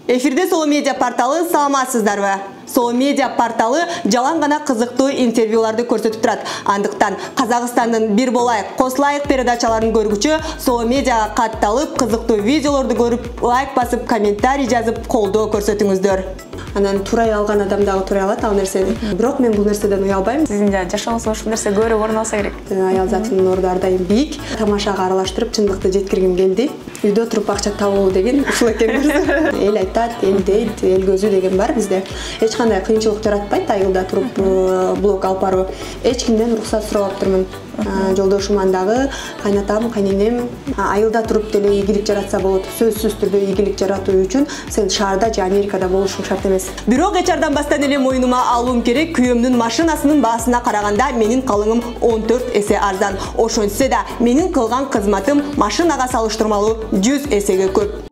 Эфирде Соло Медиа порталы, саламатсыздарбы? Соло Медиа порталы жалаң гана кызыктуу интервьюларды көрсөтүп турат. Андыктан Казакстандын бир болайык, косулайык передачаларын көргүчү Соло Медиага катталып, кызыктуу видеолорду көрүп, лайк басып, комментарий жазып, колдоо көрсөтүңүздөр. Анан турай алган адам дагы турай алат ал нерсени. Бирок мен бул нерседен уялбайм. Сиздин жашооңузда ушул нерсе көбүрөөк орун алса керек. Аял затынын орду ар дайым бийик. Тамашага аралаштырып, чындыкты жеткиргим келди. Үйдө туруп акча табуу деген ушул экенбиз. Эл айтат, эл дейт, эл көзү деген бар бизде. Эч кандай кыйынчылык жаратпайт айылда туруп блог алып баруу. Эч кимден уруксат сурабаптырмын. Жолдошуман дагы, кайнатам, кайненем айылда туруп деле ийгилик жаратса болот. Сөзсүз түрдө ийгилик жаратуу үчүн сен шаарда же Америкада болушуң шарт эмес. Бирок эчардан бастан эле моюнума алуум керек. Күйөөмдүн машинасынын баасына караганда менин калыңым 14 эсе арзан. Ошентсе да менин кылган кызматым машинага салыштырмалуу 100 эсеге көп.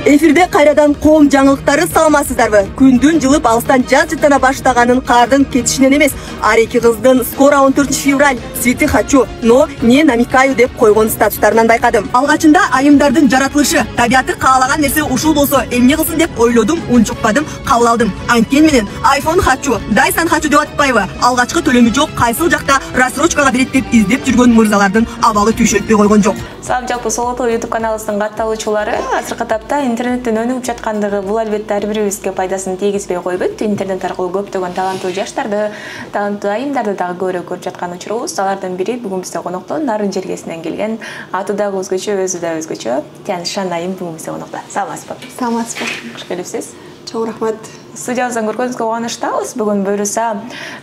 Эфирде кайрадан коом жаңылыктары, саламатсыздарбы? Күндүн жылып алыстан жаз жыттана баштаганын каардын кетишинен эмес, ар эки кыздын скоро 14 февраль, цветы хочу, но не намекаю деп койгон статустарынан байкадым. Алгачында айымдардын жаратылышы, табияты каалаган нерсе ушул болсо эмне кылсын деп ойлодум, унчукпадым, кабыл алдым. Анткени менен iPhone хочу, Dyson хочу деп атпайбы? Алгачкы төлөмү жок, кайсыл жакта рассрочкага берет деп издеп жүргөн мырзалардын абалы түйшөлтпөй койгон жок. Салам жалпы Соло YouTube каналыбыздын катталуучулары, азыркы тапта интернеттен өнүгүп жаткандыгы бул албетте ар бирибизге пайдасын тийгизбей койбойт. Интернет аркылуу көптөгөн таланттуу жаштарды, таланттуу айымдарды дагы көбүрөөк көрүп жаткан учурубуз. Алардын бири бүгүн бизде конокто Нарын жергесинен келген, аты дагы өзгөчө, өзү да өзгөчө. Тяншан айым бүгүн бизде конокто. Саламатсызбы? Саламатсызбы? Кош келипсиз. Чоң рахмат. Студиябыздан көргөнүзгө кубанычтабыз. Бүгүн буюрса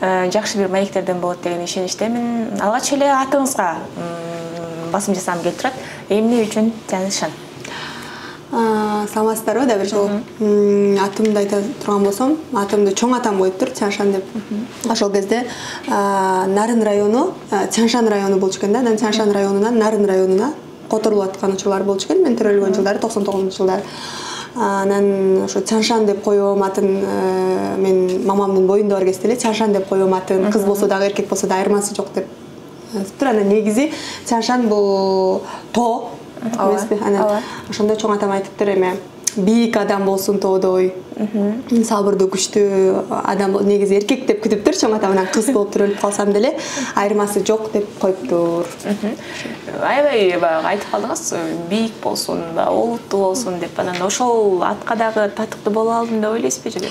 жакшы бир маектерден болот деген ишеничтемин. Алгач эле атыңызга басым жасагым келип турат. Эмне үчүн Тяншан? Саламатсыздарбы да бир жолу. Атымды айта турган болсом, атымды чоң атам коюптур, Тяншан деп. Ошол кезде Нарын району, Тяншан району болчу экен да. Анан Тяншан районунан Нарын районуна которулуп аткан учурлар болчу экен. Мен төрөлгөн жылдары 99-жылдары. Анан ошо Тяншан деп коём атын, мен мамамдын боюнда бар кезде эле Тяншан деп коём атын, кыз болсо дагы эркек болсо да айырмасы жок деп. Анан негизи Тяншан бул тоо эмеспи? Анан ошондой чоң атам айтыптыр эме, бийик адам болсун тоодой, сабырдуу күчтүү адам, негизи эркек деп күтүптүр чоң атам, анан кыз болуп өлүп калсам деле айырмасы жок деп коюптур. Аябай айтып калдыңыз, бийик болсун, олуттуу болсун деп. Анан ошол атка дагы татыктуу боло алдым деп ойлойсузбу же?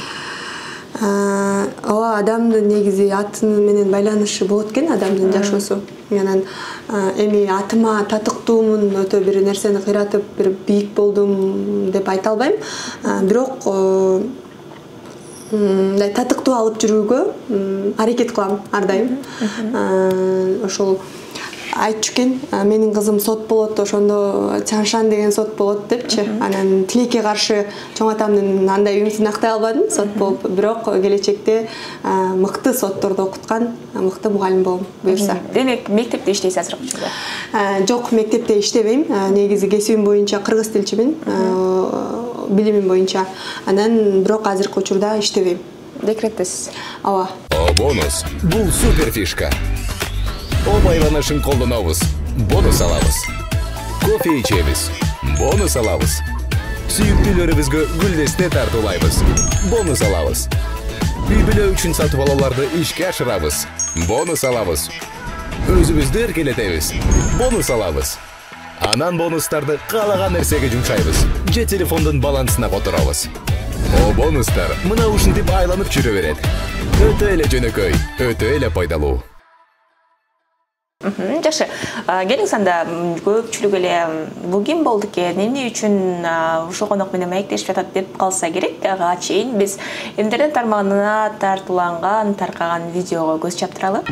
Ооба, адамдын негизи аты менен байланышы болот экен, адамдын жашоосу. Анан эми атыма татыктуумун, өтө бир нерсени кыйратып, бир бийик болдум деп айта албайм. Бирок татыктуу алып жүрүүгө аракет кылам ар дайым. Ошол айтчу экен, менин кызым сот болот, ошондо Тяншан деген сот болот депчи. Анан тилекке каршы чоң атамдын андай үмүтүн актай албадым, сот болуп, бирок келечекте мыкты сотторду окуткан мыкты мугалим болом буюрса. Демек, мектепте иштейсиз азыркы учурда? Жок, мектепте иштебейм. Негизи кесибим боюнча кыргыз тилчимин, билимим боюнча. Анан бирок азыркы учурда иштебейм. Декреттесиз? Ооба. Бонус. Бул супер фишка. Байланышын колдонобуз, бонус алабыз. Кофе ичебиз, бонус алабыз. Сүйүктүүлөрүбүзгө гүлдесте тартуулайбыз, бонус алабыз. Үй бүлө үчүн сатып алууларды ишке ашырабыз, бонус алабыз. Өзүбүздү эркелетебиз, бонус алабыз. Анан бонустарды каалаган нерсеге жумшайбыз, же телефондун балансына которобуз. Бонустар мына ушинтип айланып жүрө берет. Өтө эле жөнөкөй, өтө эле пайдалуу. Жакшы. Келиңиз анда көпчүлүк эле бул ким болду экен, эмне үчүн ушул конок менен маектешип жатат деп калса керек. Ага чейин биз интернет тармагына тартууланган, таркаган видеого көз чаптыралы.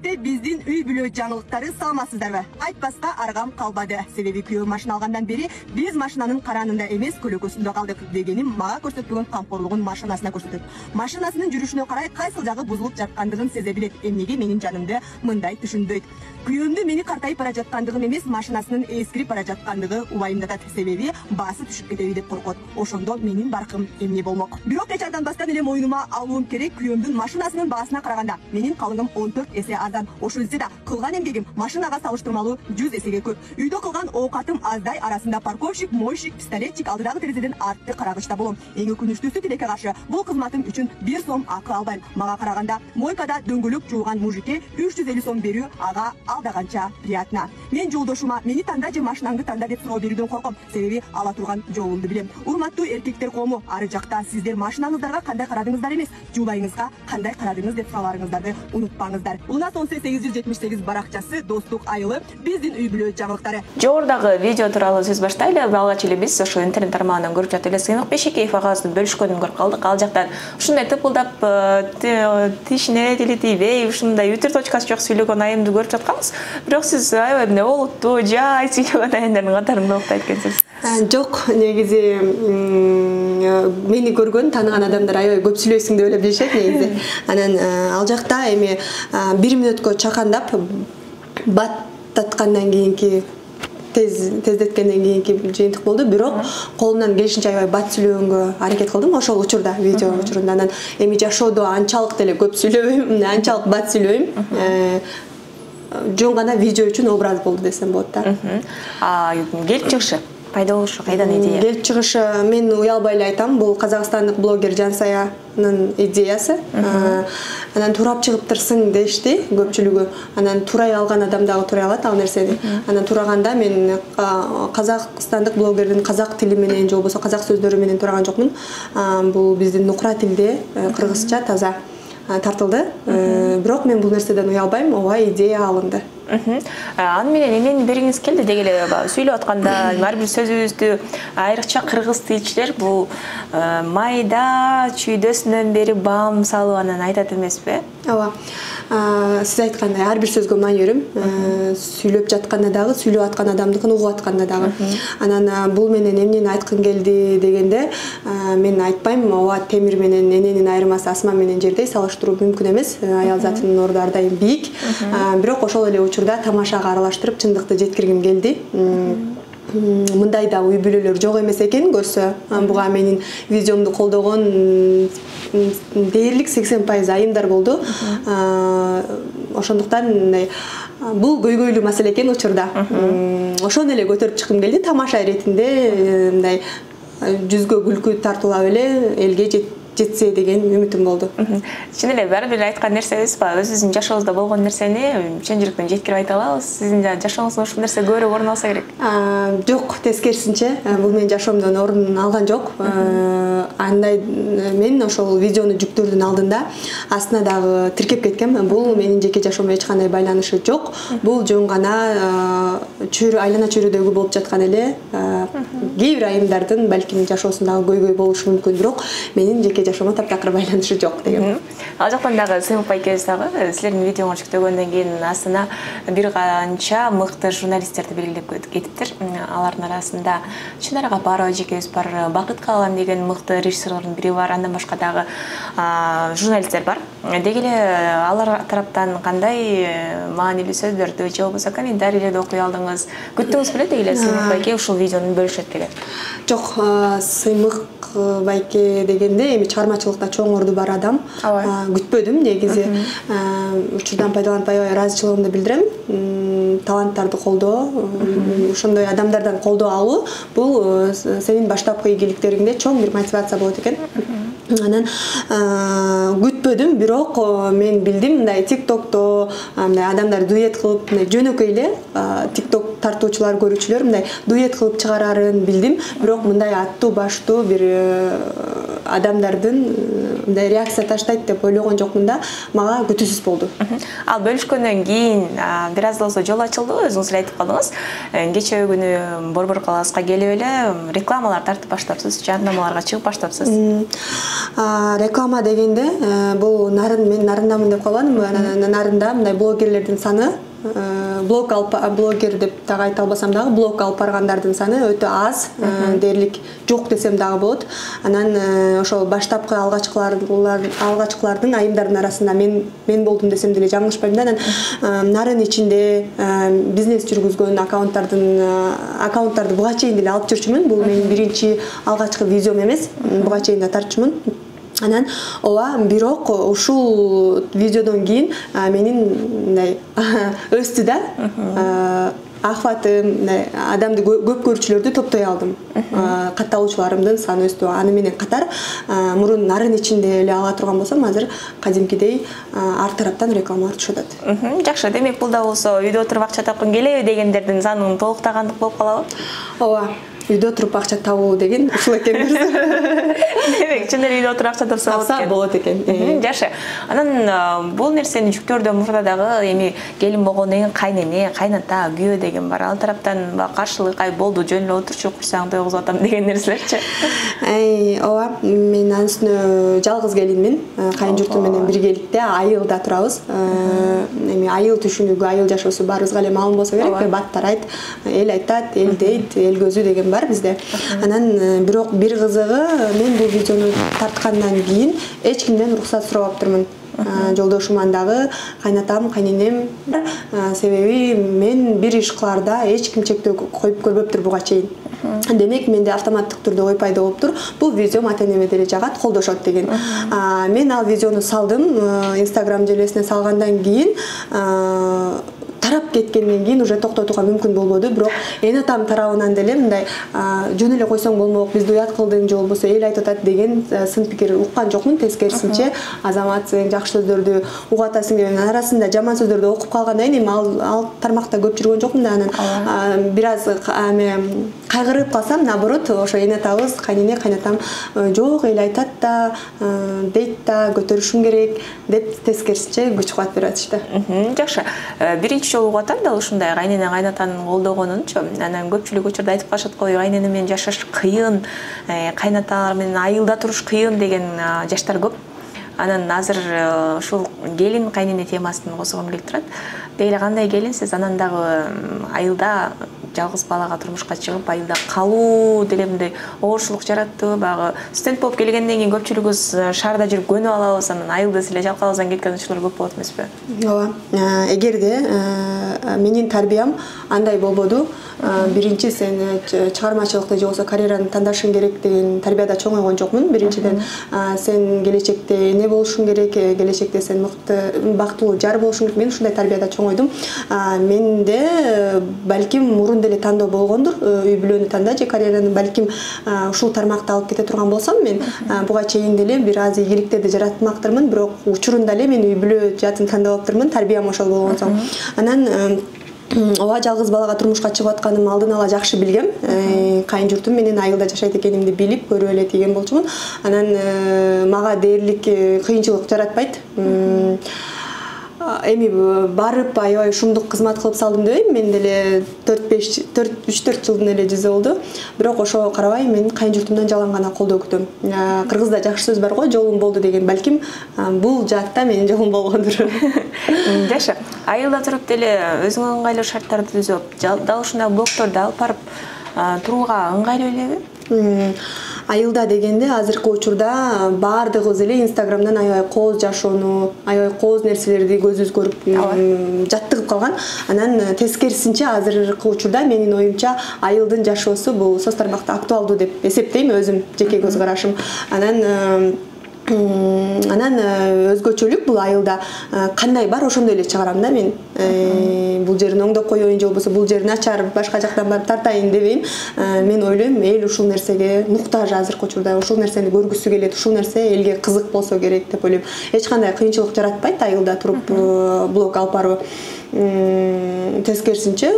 Албетте биздин үй бүлө жаңылыктары саламатсыздарбы? Айтпаска аргам калбады. Себеби күйөө машина алгандан бери биз машинанын каранында эмес, көлөкөсүндө калдык дегеним мага көрсөтпөгөн камкорлугун машинасына көрсөтөт. Машинасынын жүрүшүнө карай кайсыл жагы бузулуп жаткандыгын сезе билет. Эмнеге менин жанымды мындай түшүнбөйт? Күйөөмдү мени картайып бара жаткандыгым эмес, машинасынын эскирип бара жаткандыгы убайымдатат. Себеби баасы түшүп кетеби деп коркот. Ошондо менин баркым эмне болмок? Бирок эч арданбастан эле моюнума алуум керек. Күйөөмдүн машинасынын баасына караганда менин калыгым 14 эсе арзан. Ошол эле да кылган эмгегим машинага салыштырмалуу 100 эсеге көп. Үйдө кылган оокатым аздай арасында парковщик, мойщик, пистолетчик алдыдагы терезеден артты карагычта болом. Эң өкүнүчтүүсү тилекке каршы бул кызматым үчүн 1 сом акы албайм. Мага караганда мойкада дөңгөлөк жууган мужикке 350 сом берүү ага алдаганча приятно. Мен жолдошума мени танда же машинаңды танда деп суроо берүүдөн корком. Себеби ала турган жолумду билем. Урматтуу эркектер коому, ары жакта сиздер машинаңыздарга кандай карадыңыздар эмес, жубайыңызга кандай карадыңыз деп суроолоруңуздарды унутпаңыздар. Луна 878 баракчасы достук айылы биздин үй бүлө жаңылыктары. Жогорудагы видео тууралуу сөз баштайлы. Алгач эле биз ошо интернет тармагынан көрүп жатып эле Сыймык Бешекеев агабыздын бөлүшкөнүн көрүп калдык. Ал жактан ушундай тыпылдап тишине тили тийбей, ушундай үтүр точкасы жок сүйлөгөн айымды көрүп жатканбыз. Бирок сиз аябай эмне олуттуу, жай сүйлөгөн айымдардын катарында уктайт экенсиз. Жок, негизи мени көргөн, тааныган адамдар аябай көп сүйлөйсүң деп эле билишет негизи. Анан ал жакта эми 1 мүнөткө чакандап баттаткандан кийинки тездеткенден кийинки жыйынтык болду. Бирок колумдан келишинче аябай бат сүйлөгөнгө аракет кылдым ошол учурда, видео учурунда. Анан эми жашоодо анчалык деле көп сүйлөбөйм, анчалык бат сүйлөбөйм. Жөн гана видео үчүн образ болду десем болот да. Келип чыгышы пайда болушу кайдан идея? Келип чыгышы мен уялбай эле айтам, бул казакстандык блогер Жансаянын идеясы. Анан турап чыгыптырсың дешти көпчүлүгү. Анан турай алган адам дагы турай алат ал нерсени. Анан тураганда мен казакстандык блогердин казак тили менен же болбосо казак сөздөрү менен тураган жокмун. Бул биздин нукра тилде кыргызча таза тартылды. Бирок мен бул нерседен уялбайм, ооба идея алынды. Аны менен эмнени бергиңиз келди деги эле сүйлөп атканда ар бир сөзүбүздү айрыкча кыргыз тилчилер бул майда чүйдөсүнөн бери баам салып анан айтат эмеспи? Ооба. Сиз айткандай ар бир сөзгө маани берем. Сүйлөп жатканда дагы, сүйлөп аткан адамдыкын угуп атканда дагы. Анан бул менен эмнени айткым келди дегенде, мен айтпайм, ооба темир менен эненин айырмасы асман менен жердей, салыштыруу мүмкүн эмес. Аял затынын орду ар дайым бийик. Бирок ошол эле учурда тамашага аралаштырып чындыкты жеткиргим келди. Мындай да үй бүлөлөр жок эмес экен көрсө, буга менин видеомду колдогон дээрлик 80% айымдар болду. Ошондуктан бул көйгөйлүү маселе экен учурда. Ошону эле көтөрүп чыккым келди, тамаша иретинде мындай жүзгө күлкү тартуулап эле элге жетсе деген үмүтүм болду. Чын эле баары бир айткан нерсебиз ба? Өзүбүздүн жашообузда болгон нерсени чын жүрөктөн жеткирип айта алабыз. Сиздин жашооңузда ушул нерсе көбүрөөк орун алса керек. Жок, тескерисинче, бул менин жашоомдон орун алган жок. Андай мен ошол видеону жүктөөрдүн алдында астына дагы тиркеп кеткем. Бул менин жеке жашоомдо эч кандай байланышы жок. Бул жөн гана айлана чөйрөдөгү болуп жаткан эле кээ бир айымдардын балким жашоосундагы көйгөй болушу мүмкүн, бирок менин жеке жашоомо таптакыр байланышы жок деген. Ал жактан дагы Сыймык байкебиз дагы силердин видеоңу жүктөгөндөн кийин астына бир канча мыкты журналисттерди белгилеп кетиптир. Алардын арасында Чынар Гапарова эжекебиз бар, Бакыт Калан деген мыкты режиссерлордун бири бар, андан башка дагы журналисттер бар. Деги эле алар тараптан кандай маанилүү сөздөрдү же болбосо комментарийлерди окуй алдыңыз? Күттүңүз беле деги эле Сыймык байке ушул видеону бөлүшөт деген? Жок, Сыймык байке дегенде эми чыгармачылыкта чоң орду бар адам. Күтпөдүм негизи. Учурдан пайдаланып аябай ыраазычылыгымды билдирем. Таланттарды колдоо, ошондой адамдардан колдоо алуу бул сенин баштапкы ийгиликтериңде чоң бир мотивация болот экен. Анан күтпөдүм, бирок мен билдим мындай TikTokто мындай адамдар дуэт кылып, мындай жөнөкөй эле TikTok тартуучулар, көрүүчүлөр мындай дуэт кылып чыгарарын билдим, бирок мындай аттуу баштуу бир адамдардын мындай реакция таштайт деп ойлогон жокмун да, мага күтүүсүз болду. Ал бөлүшкөндөн кийин бир аз да болсо жол ачылды, өзүңүз эле айтып калдыңыз. Кечээ күнү Борбор калаасына келип эле рекламалар тартып баштапсыз, жарнамаларга чыгып баштапсыз. Реклама дегенде бул мен нарындамын деп калбадым. Нарында мындай блогерлердин саны блогер деп дагы айта албасам дагы блог алып баргандардын саны өтө аз, дээрлик жок десем дагы болот. Анан ошол баштапкы алгачкылардын айымдардын арасында мен болдум десем деле жаңылышпайм да. Анан нарын ичинде бизнес жүргүзгөн аккаунттарды буга чейин деле алып жүрчүмүн. Бул менин биринчи алгачкы видеом эмес, буга чейин да тартчумун. Анан бирок ушул видеодон кийин менин мындай өстү да, ахватым, адамды көп көрүүчүлөрдү топтой алдым. Катталуучуларымдын саны өстү. Аны менен катар мурун нарын ичинде эле ала турган болсом, азыр кадимкидей ар тараптан рекламалар түшүп атат. Жакшы, демек бул да болсо үйдө отуруп акча тапкым келеби дегендердин санын толуктагандык болуп калабы? Ооба. Үйдө отуруп акча табуу деген ушул экен. Демек, чын эле үйдө отуруп акча тапса болот экен. Жакшы. Анан бул нерсени жүктөрдө мурда дагы эми келин болгондон кийин кайнене, кайната, күйөө деген бар. Ал тараптан каршылык болду, жөн эле отурчу, курсаң тойгузуп атам деген нерселерчи? Ооба, мен анын үстүнө жалгыз келинмин. Кайын журтум менен биргеликте айылда турабыз. Эми айыл түшүнүгү, айыл жашоосу баарыбызга эле маалым болсо керек. Баттар эл айтат, эл дейт, эл көзү деген бар бизде. Анан бирок бир кызыгы, мен бул видеону тарткандан кийин эч кимден уруксат сурабаптырмын. Жолдошуман дагы, кайнатам, кайненем. Себеби мен бир иш кылаарда эч ким чектөө коюп көрбөптүр буга чейин. Демек менде автоматтык түрдө ой пайда болуптур. Бул видеом ата-энеме деле жагат, колдошот деген. Мен ал видеону салдым, Instagram желесине салгандан кийин тарап кеткенден кийин уже токтотууга мүмкүн болбоду. Бирок эн атам тарабынан деле мындай жөн эле койсоң болмок, бизди уят кылдың же болбосо эл айтып атат деген сын пикир уккан жокмун. Тескерисинче азаматсың, жакшы сөздөрдү угатасың деген арасында жаман сөздөрдү окуп калгандан кийин ал тармакта көп жүргөн жокмун да. Анан бир аз кайгырып калсам, наоборот, ошо эн атабыз, кайнене, кайнатам жок эл айтат да, дейт да, көтөрүшүң керек деп тескерисинче күч кубат берип атышты. Жакшы. Биринчи жолу угуп атам да ушундай кайнене кайнатанын колдогонунчу. Анан көпчүлүк учурда айтып калышат го, кайнене менен жашаш кыйын, кайнаталар менен айылда туруш кыйын деген жаштар көп. Анан азыр ушул келин кайнене темасын козгом келип турат. Дейли кандай келинсиз? Анан дагы айылда жалгыз балага турмушка чыгып, айылда калуу деле мындай оорчулук жараттыбы? Багы студент болуп келгенден кийин көпчүлүгүбүз шаарда жүрүп көнүп алабыз, анан айылда эле жалкабыздан кеткен учурлар көп болот эмеспи? Ооба. Эгерде менин тарбиям андай болбоду, биринчи сен чыгармачылыкты же болбосо карьераны тандашың керек деген тарбияда чоңойгон жокмун. Биринчиден сен келечекте эне болушуң керек, келечекте сен мыкты, бактылуу жар болушуң керек. Мен ушундай тарбияда чоңойдум. Менде балким мурун деле тандоо болгондур, үй бүлөнү танда же карьераны балким ушул тармакта алып кете турган болсом, мен буга чейин деле бир аз ийгиликтерди жаратмактырмын, бирок учурунда эле мен үй бүлө жатын тандап алыптырмын, тарбиям ошол болгон соң. Анан ооба, жалгыз балага турмушка чыгып атканым алдын ала жакшы билгем. Кайын журтум менен айылда жашайт экенимди билип, көрүп эле тийген болчумун. Анан мага дээрлик кыйынчылык жаратпайт. Эми барып аябай шумдук кызмат кылып салдым дебейм. Мен деле 3-4 жылдын эле жүзү болду. Бирок ошого карабай мен кайын журтумдан жалаң гана колдоо күтөм. Кыргызда жакшы сөз бар го, жолум болду деген. Балким бул жаатта менин жолум болгондур. Жакшы. Айылда туруп деле өзүңө ыңгайлуу шарттарды түзүп, дал ушундай блогторду алып барып турууга ыңгайлуу элеби? Айылда дегенде азыркы учурда баардыгыбыз эле Instagram'дан аябай кооз жашоону, аябай кооз нерселерди көзүбүз көрүп жаттыгып калган. Анан тескерисинче азыркы учурда менин оюмча айылдын жашоосу бул соц тармакта актуалдуу деп эсептейм, өзүм жеке көз карашым. Анан өзгөчөлүк бул айылда кандай бар ошондой эле чыгарам да мен. Бул жерин оңдоп коеюн же болбосо бул жер начар, башка жактан барып тартайын дебейм. Мен ойлойм, эл ушул нерсеге муктаж азыркы учурда, ушул нерсени көргүсү келет, ушул нерсе элге кызык болсо керек деп ойлойм. Эч кандай кыйынчылык жаратпайт айылда туруп блог алып баруу. Тескерисинче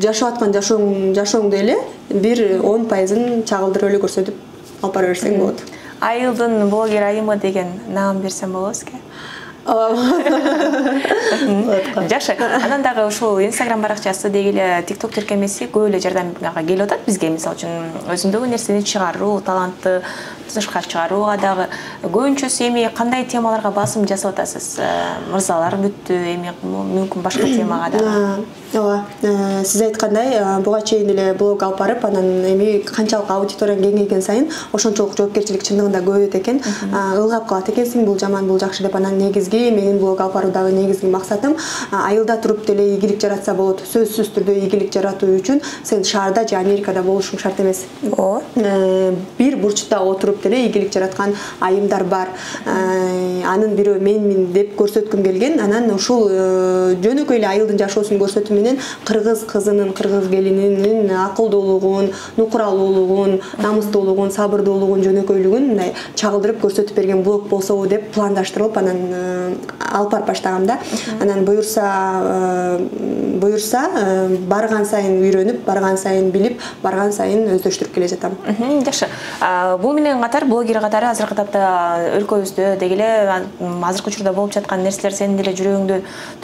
жашап аткан жашооңду эле бир 10% чагылдырып эле көрсөтүп алып бара берсең болот. Айылдын блогер айымы деген наам берсем болобу сизге? Жакшы. Анан дагы ушул Instagram баракчасы деги эле TikTok тиркемеси көп эле жардамга келип атат бизге. Мисалы үчүн өзүңдөгү нерсени чыгаруу, талантты тышкары чыгарууга дагы көбүнчөсү эми кандай темаларга басым жасап атасыз? Мырзалар бүттү, эми мүмкүн башка темага дагы. Ооба, сиз айткандай, буга чейин эле блог алып барып, анан эми канчалык аудиторияң кеңейген сайын ошончолук жоопкерчилик чындыгында көбөйөт экен. Ылгап калат экенсиң, бул жаман, бул жакшы деп. Анан негизги менин блог алып баруудагы негизги максатым айылда туруп деле ийгилик жаратса болот. Сөзсүз түрдө ийгилик жаратуу үчүн сен шаарда же Америкада болушуң шарт эмес. Бир бурчта отуруп деле ийгилик жараткан айымдар бар. Анын бирөө менмин деп көрсөткүм келген. Анан ушул жөнөкөй эле айылдын жашоосун көрсөтүү менен кыргыз кызынын, кыргыз келининин акылдуулугун, нукуралуулугун, намыстуулугун, сабырдуулугун, жөнөкөйлүгүн мындай чагылдырып көрсөтүп берген блог болсобу деп пландаштырылып, анан алып барып баштагам да. Анан буюрса барган сайын үйрөнүп, барган сайын билип, барган сайын өздөштүрүп келе жатам. Жакшы. Бул менен катар блогер катары азыркы тапта өлкөбүздө деги эле азыркы учурда болуп жаткан нерселер сенин деле жүрөгүңдү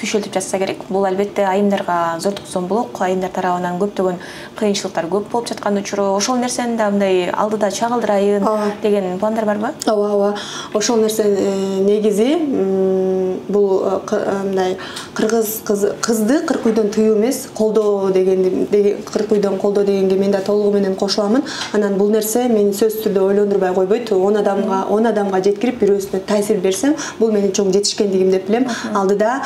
түйшөлтүп жатса керек. Бул албетте айымдарга зор токсомбулук, айымдар тарабынан көптөгөн кыйынчылыктар көп болуп жаткан учуру. Ошол нерсени да мындай алдыда чагылдырайын деген пландар барбы? Ооба. Ошол нерсе негизи бул мындай кыргыз кызды кырк үйдөн тыюу эмес, колдоо кырк үйдөн колдоо дегенге мен да толугу менен кошуламын. Анан бул нерсе мени сөзсүз түрдө ойлондурбай койбойт. 10 адамга жеткирип бирөөсүнө таасир берсем, бул менин чоң жетишкендигим деп билем. Алдыда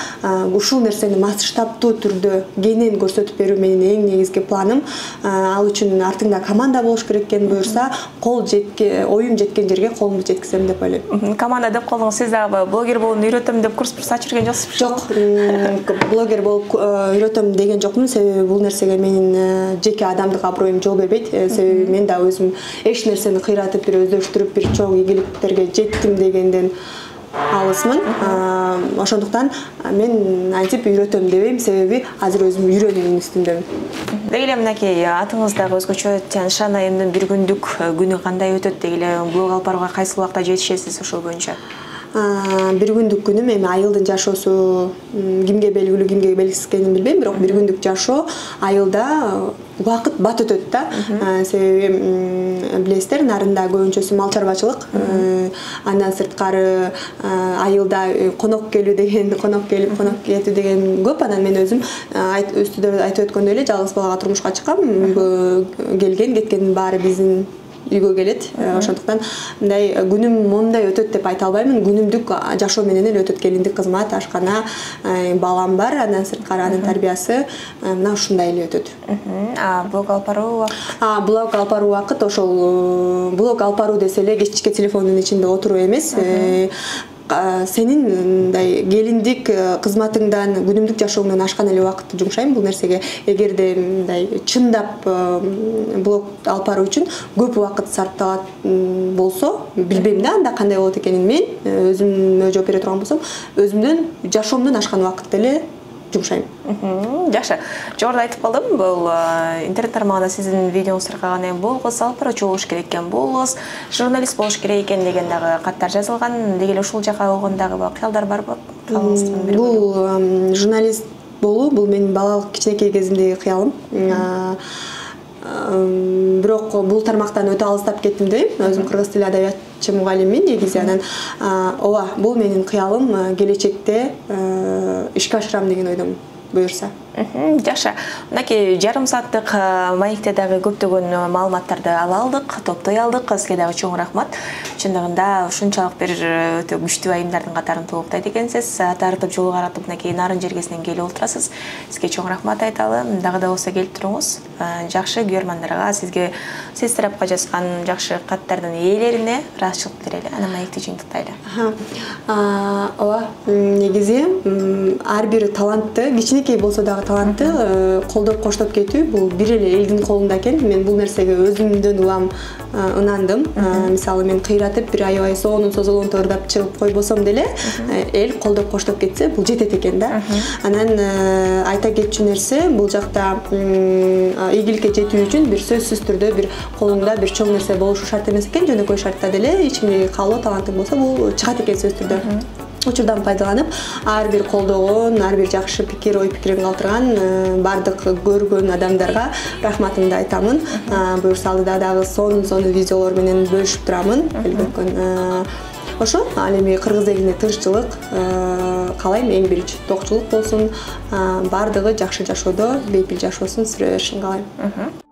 ушул нерсени масштабтуу түрдө кенен көрсөтүп берүү менин эң негизги планым. Ал үчүн артыңда команда болуш керек экен, буюрса оюм жеткен жерге колумду жеткизем деп ойлойм. Команда деп колуңуз сиз дагы блогер болууну үйрөтөм деп курс ачып жүргөн жоксузбу? Жок, блогер болуп үйрөтөм деген жокмун. Себеби бул нерсеге менин жеке адамдык аброюм жол бербейт. Себеби мен да өзүм эч нерсени кыйратып, бир өздөштүрүп, бир чоң ийгиликтерге жеттим дегенден алысмын. Ошондуктан мен антип үйрөтөм дебейм, себеби азыр өзүм үйрөнүүнүн үстүндөмүн. Деги эле мынакей атыңыздагы өзгөчө Тяншан айымдын бир күндүк күнү кандай өтөт? Деги эле блог алып барууга кайсы убакта жетишесиз ошол боюнча? Бир күндүк күнүм эми айылдын жашоосу кимге белгилүү, кимге белгисиз экенин билбейм, бирок бир күндүк жашоо айылда убакыт бат өтөт да. Себеби билесиздер, нарында көбүнчөсү мал чарбачылык. Андан сырткары айылда конок келүү деген, конок кетүү деген көп. Анан мен өзүм үстүдө айтып өткөндөй эле жалгыз балага турмушка чыккам. Үйгө келген, кеткендин баары биздин үйгө келет. Ошондуктан мындай күнүм мондай өтөт деп айта албаймын. Күнүмдүк жашоо менен эле өтөт. Келиндик кызмат, ашкана, балам бар, андан сырткары анын тарбиясы мына ушундай эле өтөт. Блог алып баруу убакыт? Блог алып баруу убакыт ошол блог алып баруу десе эле кечке телефондун ичинде отуруу эмес. Сенин мындай келиндик кызматыңдан, күнүмдүк жашооңдон ашкан эле убакытты жумшайм бул нерсеге. Эгерде мындай чындап блог алып баруу үчүн көп убакыт сарпталат болсо, билбейм да анда кандай болот экенин. Мен өзүмө жооп бере турган болсом, өзүмдөн жашоомдон ашкан убакытты эле жумшайм. Жакшы. Жогоруда айтып калдым, бул интернет тармагында сиздин видеоңузду таркаган болгус, алып баруучу болуш керек экен болгус, журналист болуш керек экен деген дагы каттар жазылган. Деги эле ушул жака болгондагы кыялдар барбы? Бул журналист болуу бул менин балалык кичинекей кезимдеги кыялым. Бирок бул тармактан өтө алыстап кеттим дейм. Өзүм кыргыз тили адабиятчы мугалиммин негизи. Анан ооба, бул менин кыялым келечекте ишке ашырам деген ойдомун, буюрса. Жакшы. Мынакей жарым сааттык маекте дагы көптөгөн маалыматтарды ала алдык, топтой алдык. Сизге дагы чоң рахмат. Чындыгында ушунчалык бир өтө күчтүү айымдардын катарын толуктайт экенсиз. Тартып жол каратып мынакей нарын жергесинен келип отурасыз. Сизге чоң рахмат айталы. Дагы да болсо келип туруңуз. Жакшы көрөрмандарга, сизге сиз тарапка жазган жакшы каттардын ээлерине ыраазычылык билдирели. Анан маекти жыйынтыктайлы. Ооба, негизи ар бир талантты, кичинекей болсо дагы талантты колдоп коштоп кетүү бул бир эле элдин колунда экен. Мен бул нерсеге өзүмдөн улам ынандым. Мисалы мен кыйратып бир аябай соонун созолонто ырдап чыгып койбосом деле эл колдоп коштоп кетсе бул жетет экен да. Анан айта кетчү нерсе, бул жакта ийгиликке жетүү үчүн бир сөзсүз түрдө бир колуңда бир чоң нерсе болушу шарт эмес экен. Жөнөкөй шартта деле ичиңдеги каалоо талантың болсо бул чыгат экен сөзсүз түрдө. учурдан пайдаланып ар бир колдогон, ар бир жакшы пикир, ой пикирин калтырган бардык көргөн адамдарга рахматымды айтамын. Буюрса алдыда дагы сонун видеолор менен бөлүшүп турамын. Ошо ал эми кыргыз элине тынччылык каалайм, эң биринчи токчулук болсун, бардыгы жакшы жашоодо, бейпил жашоосун сүрө беришин каалайм.